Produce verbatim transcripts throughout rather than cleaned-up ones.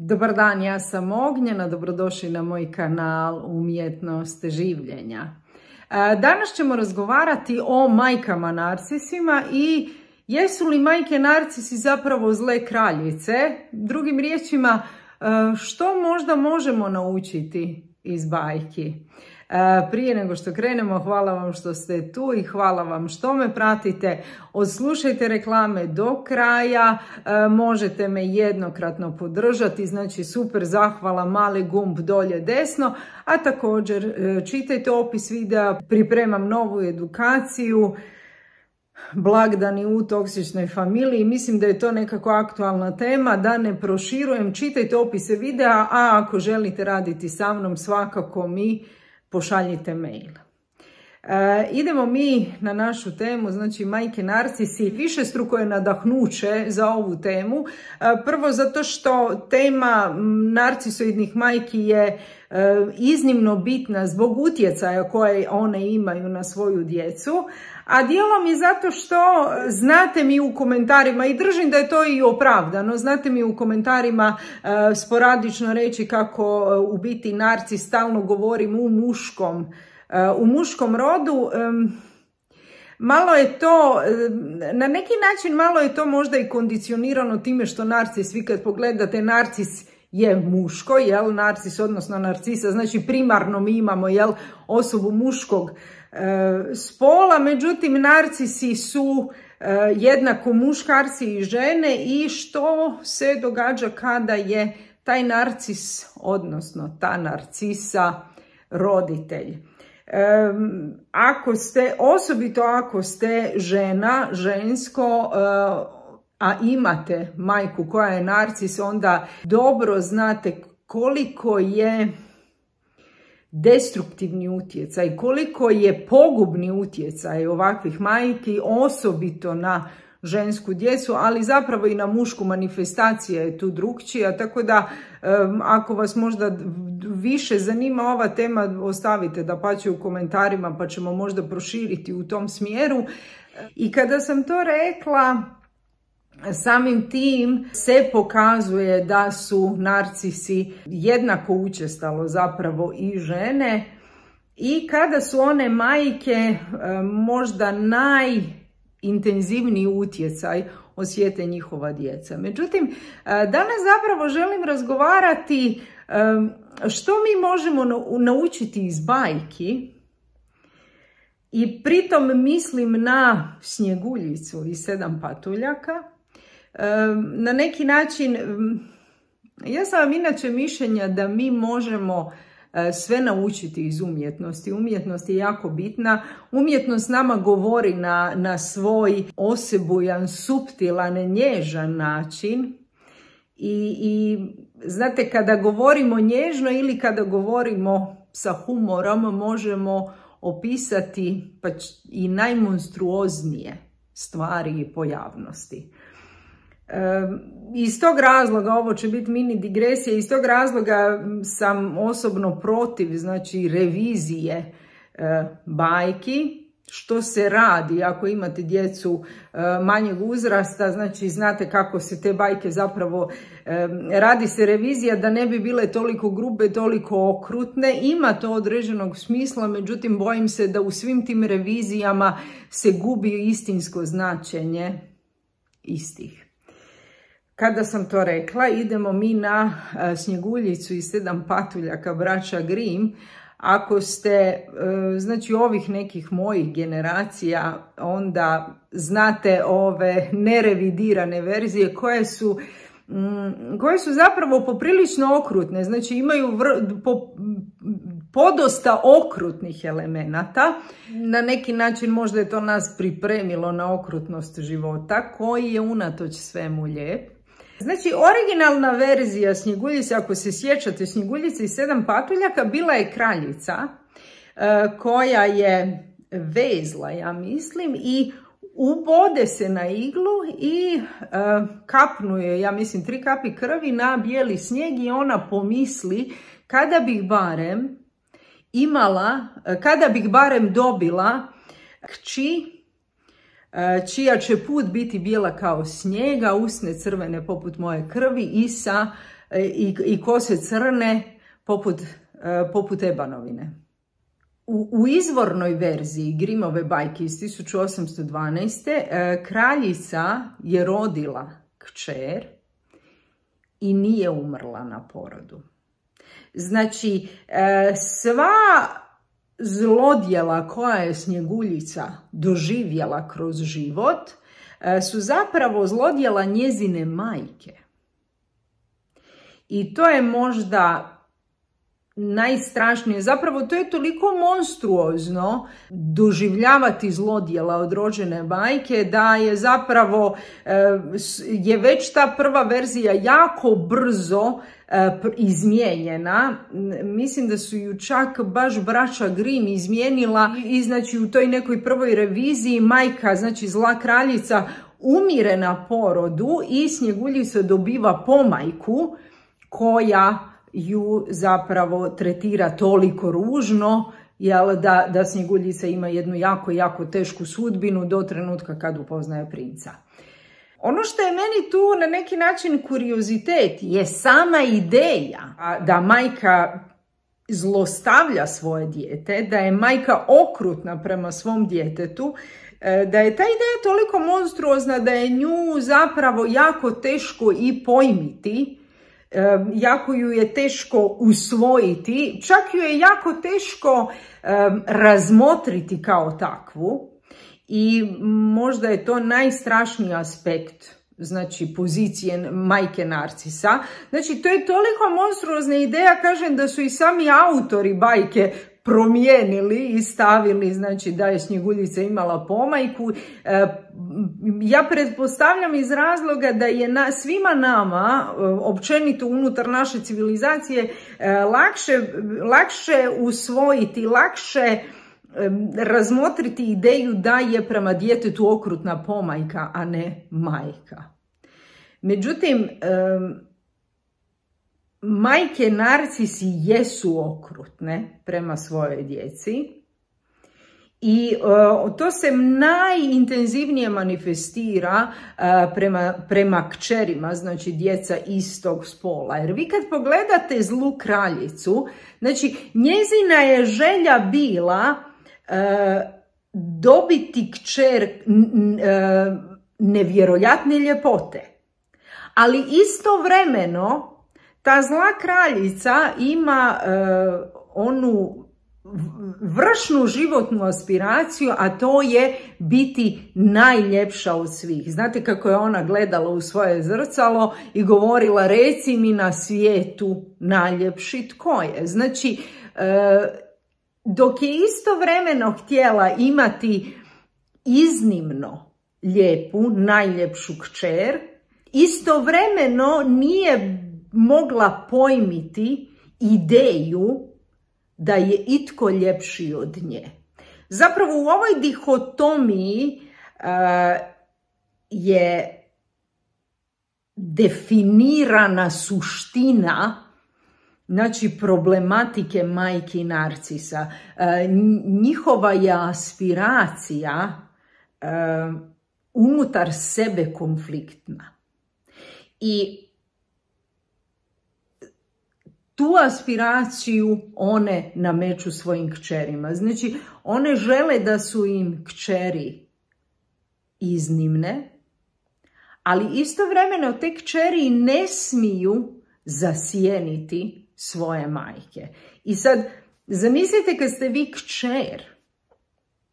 Dobar dan, ja sam Ognjena, dobrodošli na moj kanal Umjetnost življenja. Danas ćemo razgovarati o majkama narcisima i jesu li majke narcisi zapravo zle kraljice? Drugim riječima, što možda možemo naučiti iz bajki? Prije nego što krenemo, hvala vam što ste tu i hvala vam što me pratite. Odslušajte reklame do kraja, možete me jednokratno podržati, znači super zahvala, mali gumb dolje desno, a također čitajte opis videa, pripremam novu edukaciju, blagdani u toksičnoj familiji, mislim da je to nekako aktualna tema, da ne proširujem, čitajte opise videa, a ako želite raditi sa mnom svakako mi pošaljite mail. E, idemo mi na našu temu, znači majke narcisi. Višestruko je nadahnuće za ovu temu. E, prvo zato što tema narcisoidnih majki je e, iznimno bitna zbog utjecaja koje one imaju na svoju djecu, a dijelom je zato što znate mi u komentarima, i držim da je to i opravdano, znate mi u komentarima e, sporadično reći kako e, u biti narcis stalno govorim u muškom, e, u muškom rodu. E, malo je to, e, na neki način malo je to možda i kondicionirano time što narcis, vi kad pogledate narcis je muško, jel, narcis odnosno narcisa, znači primarno mi imamo, jel, osobu muškog e, spola, međutim narcisi su e, jednako muškarci i žene. I što se događa kada je taj narcis, odnosno ta narcisa, roditelj? E, ako ste, osobito ako ste žena, žensko, e, a imate majku koja je narcis, onda dobro znate koliko je destruktivni utjecaj, koliko je pogubni utjecaj ovakvih majki, osobito na žensku djecu, ali zapravo i na mušku. Manifestacija je tu drukčija, tako da um, ako vas možda više zanima ova tema, ostavite dapače u komentarima pa ćemo možda proširiti u tom smjeru. I kada sam to rekla, samim tim se pokazuje da su narcisi jednako učestalo zapravo i žene, i kada su one majke možda najintenzivniji utjecaj osjete njihova djeca. Međutim, danas zapravo želim razgovarati što mi možemo naučiti iz bajki. I pritom mislim na Snjeguljicu i sedam patuljaka. Na neki način, ja sam vam inače mišljenja da mi možemo sve naučiti iz umjetnosti. Umjetnost je jako bitna. Umjetnost nama govori na, na svoj osebujan, suptilan, nježan način. I, i znate, kada govorimo nježno ili kada govorimo sa humorom, možemo opisati pa i najmonstruoznije stvari i pojavnosti. E, iz tog razloga, ovo će biti mini digresija, iz tog razloga sam osobno protiv, znači, revizije e, bajki. Što se radi ako imate djecu e, manjeg uzrasta, znači znate kako se te bajke zapravo, e, radi se revizija da ne bi bile toliko grube, toliko okrutne. Ima to određenog smisla, međutim bojim se da u svim tim revizijama se gubi istinsko značenje istih. Kada sam to rekla, idemo mi na e, Snjeguljicu i sedam patuljaka braća Grimm. Ako ste, znači, ovih nekih mojih generacija, onda znate ove nerevidirane verzije koje su, koje su zapravo poprilično okrutne. Znači imaju vr, po, podosta okrutnih elemenata. Na neki način možda je to nas pripremilo na okrutnost života, koji je unatoč svemu lijep. Znači, originalna verzija Snjeguljice, ako se sjećate, Snjeguljice i sedam patuljaka, bila je kraljica e, koja je vezla, ja mislim, i ubode se na iglu i e, kapnuje, ja mislim, tri kapi krvi na bijeli snijeg i ona pomisli kada bih barem imala, kada bih barem dobila kći čija će put biti bijela kao snijega, usne crvene poput moje krvi i sa i, i kose crne poput, poput ebanovine. U, u izvornoj verziji Grimmove bajke iz tisuću osamsto dvanaeste. kraljica je rodila kćer i nije umrla na porodu. Znači, sva zlodjela koja je Snjeguljica doživjela kroz život su zapravo zlodjela njezine majke. I to je možda najstrašnije. Zapravo to je toliko monstruozno doživljavati zlodjela od rođene majke da je zapravo je već ta prva verzija jako brzo izmijenjena. Mislim da su ju čak baš braća Grimm izmijenila i znači u toj nekoj prvoj reviziji majka, znači zla kraljica, umire na porodu i Snjeguljica dobiva pomajku koja ju zapravo tretira toliko ružno, jel, da, da Snjeguljica ima jednu jako, jako tešku sudbinu do trenutka kad upoznaje princa. Ono što je meni tu na neki način kuriozitet je sama ideja da majka zlostavlja svoje dijete, da je majka okrutna prema svom djetetu, da je ta ideja toliko monstruozna da je nju zapravo jako teško i pojmiti, jako ju je teško usvojiti, čak ju je jako teško razmotriti kao takvu. I možda je to najstrašniji aspekt, znači, pozicije majke Narcisa. Znači, to je toliko monstruozna ideja, kažem, da su i sami autori bajke promijenili i stavili, znači, da je Snjeguljica imala pomajku. Ja pretpostavljam iz razloga da je na, svima nama, općenito unutar naše civilizacije, lakše, lakše usvojiti, lakše razmotriti ideju da je prema djetetu okrutna pomajka, a ne majka. Međutim, majke Narcisi jesu okrutne prema svojoj djeci i to se najintenzivnije manifestira prema, prema kćerima, znači djeca istog spola. Jer vi kad pogledate zlu kraljicu, znači njezina je želja bila dobiti kćer nevjerojatne ljepote. Ali istovremeno ta zla kraljica ima onu vršnu životnu aspiraciju, a to je biti najljepša od svih. Znate kako je ona gledala u svoje zrcalo i govorila: reci mi na svijetu najljepši tko je. Znači, dok je istovremeno htjela imati iznimno lijepu, najljepšu kćer, istovremeno nije mogla pojmiti ideju da je itko ljepši od nje. Zapravo u ovoj dihotomiji uh, je definirana suština, znači, problematike majke Narcisa. Uh, njihova je aspiracija uh, unutar sebe konfliktna. I tu aspiraciju one nameću svojim kćerima. Znači, one žele da su im kćeri iznimne, ali istovremeno te kćeri ne smiju zasjeniti svoje majke. I sad, zamislite kad ste vi kćer,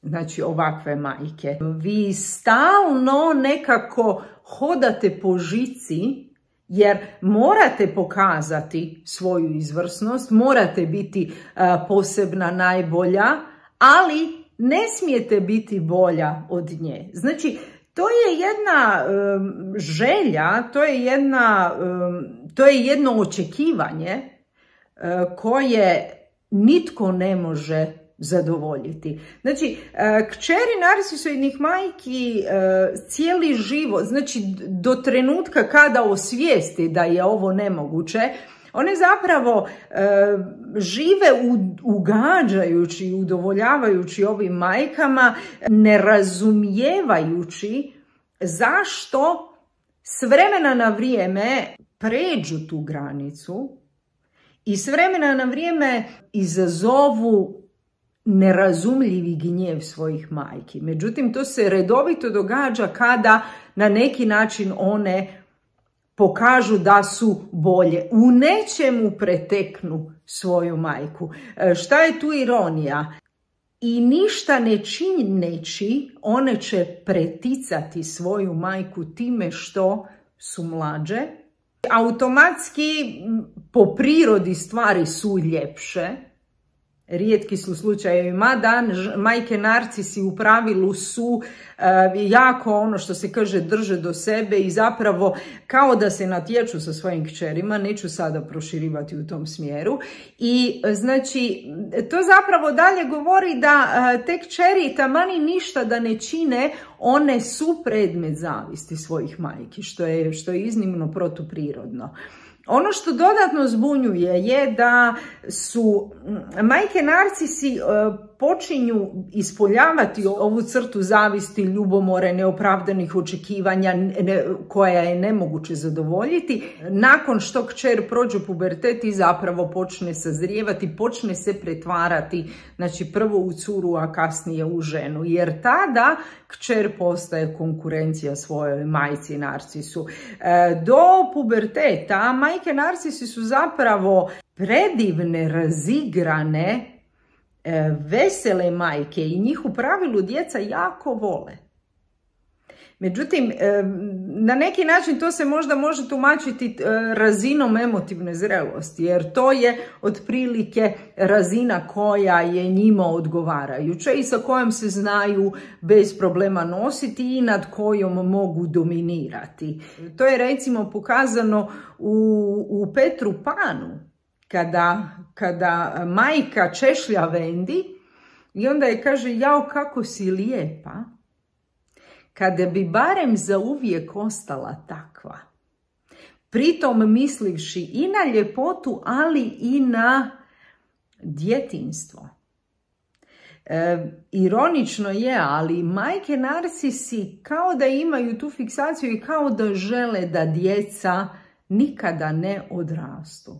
znači ovakve majke, vi stalno nekako hodate po žici, jer morate pokazati svoju izvrsnost, morate biti uh, posebna, najbolja, ali ne smijete biti bolja od nje. Znači, to je jedna um, želja, to je, jedna, um, to je jedno očekivanje uh, koje nitko ne može zadovoljiti. Znači, kćeri Narcisoidnih majki cijeli život, znači do trenutka kada osvijesti da je ovo nemoguće, one zapravo žive ugađajući i udovoljavajući ovim majkama, ne razumijevajući zašto s vremena na vrijeme pređu tu granicu i s vremena na vrijeme izazovu nerazumljivi gnjev svojih majki. Međutim, to se redovito događa kada na neki način one pokažu da su bolje. U nečemu preteknu svoju majku. Šta je tu ironija? I ništa ne čineći, one će preticati svoju majku time što su mlađe. Automatski po prirodi stvari su ljepše. Rijetki su slučajevi, mada majke narcisi u pravilu su uh, jako, ono što se kaže, drže do sebe i zapravo kao da se natječu sa svojim kćerima. Neću sada proširivati u tom smjeru. I znači, to zapravo dalje govori da uh, te kćeri tamani ništa da ne čine, one su predmet zavisti svojih majki, što je, što je iznimno protuprirodno. Ono što dodatno zbunjuje je da su majke narcisi počinju ispoljavati ovu crtu zavisti, ljubomore, neopravdanih očekivanja koja je nemoguće zadovoljiti. Nakon što kćer prođe pubertet i zapravo počne sazrijevati, počne se pretvarati, znači prvo u curu, a kasnije u ženu. Jer tada kćer postaje konkurencija svojoj majci narcisu. Do puberteta majke narcisi su zapravo predivne, razigrane, vesele majke i njih u pravilu djeca jako vole. Međutim, na neki način to se možda može tumačiti razinom emotivne zrelosti, jer to je otprilike razina koja je njima odgovarajuća i sa kojom se znaju bez problema nositi i nad kojom mogu dominirati. To je recimo pokazano u, u Petru Panu, kada, kada majka češlja Vendi i onda je kaže: jao, kako si lijepa, kada bi barem zauvijek ostala takva. Pritom mislivši i na ljepotu, ali i na djetinjstvo. E, ironično je, ali majke narcisi kao da imaju tu fiksaciju i kao da žele da djeca nikada ne odrastu.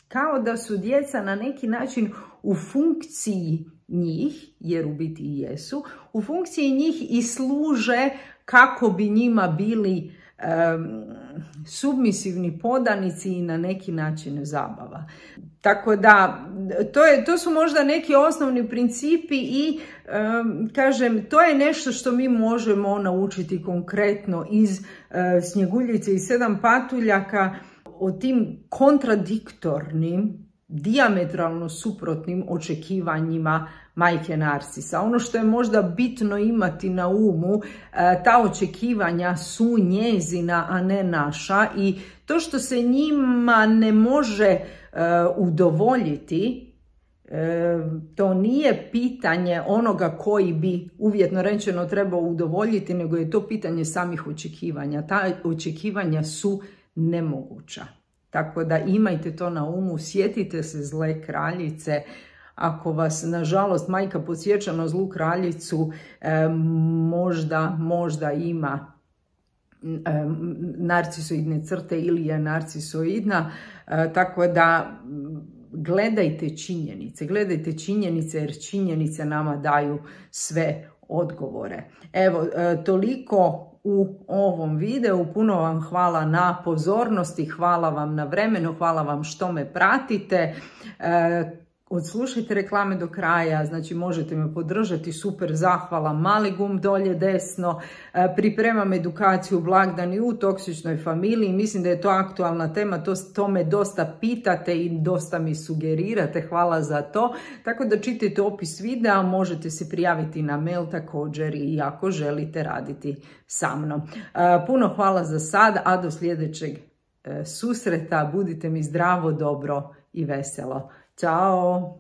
Kao da su djeca na neki način u funkciji njih, jer u biti i jesu, u funkciji njih i služe kako bi njima bili um, submisivni podanici i na neki način zabava. Tako da, to, je, to su možda neki osnovni principi i, um, kažem, to je nešto što mi možemo naučiti konkretno iz uh, Snjeguljice i sedam patuljaka, o tim kontradiktornim, dijametralno suprotnim očekivanjima majke narcisa. Ono što je možda bitno imati na umu, ta očekivanja su njezina, a ne naša, i to što se njima ne može udovoljiti, to nije pitanje onoga koji bi, uvjetno rečeno, trebao udovoljiti, nego je to pitanje samih očekivanja. Ta očekivanja su nemoguća. Tako da imajte to na umu, sjetite se zle kraljice. Ako vas, nažalost, majka podsjeća na zlu kraljicu, eh, možda, možda ima eh, narcisoidne crte ili je narcisoidna, eh, tako da gledajte činjenice, gledajte činjenice jer činjenice nama daju sve odgovore. Evo, eh, toliko u ovom videu. Puno vam hvala na pozornosti, hvala vam na vremenu, hvala vam što me pratite. E, odslušajte reklame do kraja, znači možete me podržati, super, zahvala, mali gumb dolje desno. E, pripremam edukaciju blagdani u toksičnoj familiji, mislim da je to aktualna tema, to, to me dosta pitate i dosta mi sugerirate, hvala za to. Tako da čitajte opis videa, možete se prijaviti na mail također i ako želite raditi sa mnom. E, puno hvala za sad, a do sljedećeg e, susreta, budite mi zdravo, dobro i veselo. Ćao!